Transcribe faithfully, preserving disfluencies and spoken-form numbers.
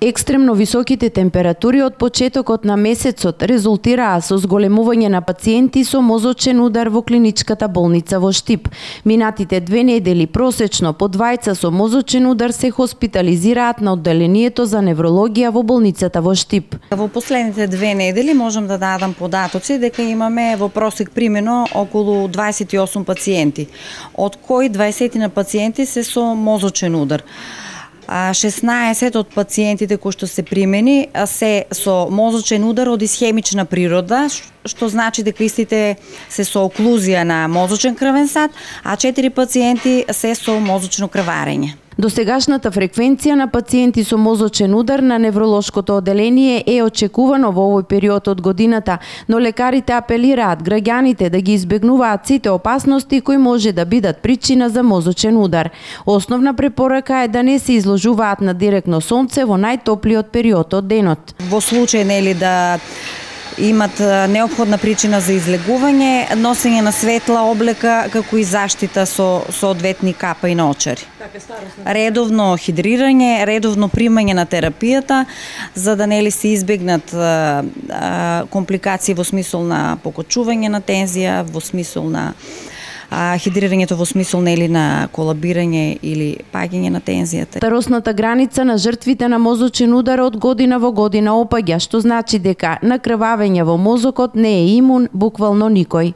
Екстремно високите температури од почетокот на месецот резултираа со зголемување на пациенти со мозочен удар во клиничката болница во Штип. Минатите две недели просечно по двајца со мозочен удар се хоспитализираат на одделението за неврологија во болницата во Штип. Во последните две недели можам да дадам податоци дека имаме во просек примено околу дваесет и осум пациенти, од кои дваесет на пациенти се со мозочен удар. шеснаесет од пациентите кои што се примени се со мозочен удар од исхемична природа, што значи дека истите се со оклузија на мозочен крвен сад, а четири пациенти се со мозочно крварење. Досегашната фреквенција на пациенти со мозочен удар на невролошкото одделение е очекувано во овој период од годината, но лекарите апелираат граѓаните да ги избегнуваат сите опасности кои може да бидат причина за мозочен удар. Основна препорака е да не се изложуваат на директно сонце во најтоплиот период од денот. Во случај нели да имат неопходна причина за излегување, носење на светла облека, како и заштита со соодветни капа и наочари. Редовно хидрирање, редовно примање на терапијата, за да нели се избегнат а, а, компликации во смисол на покочување на тензија, во смисол на а, хидрирањето во смисол нели на колабирање или паѓање на тензијата. Старосната граница на жртвите на мозочен удар од година во година опаѓа, што значи дека на крвавење во мозокот не е имун буквално никој.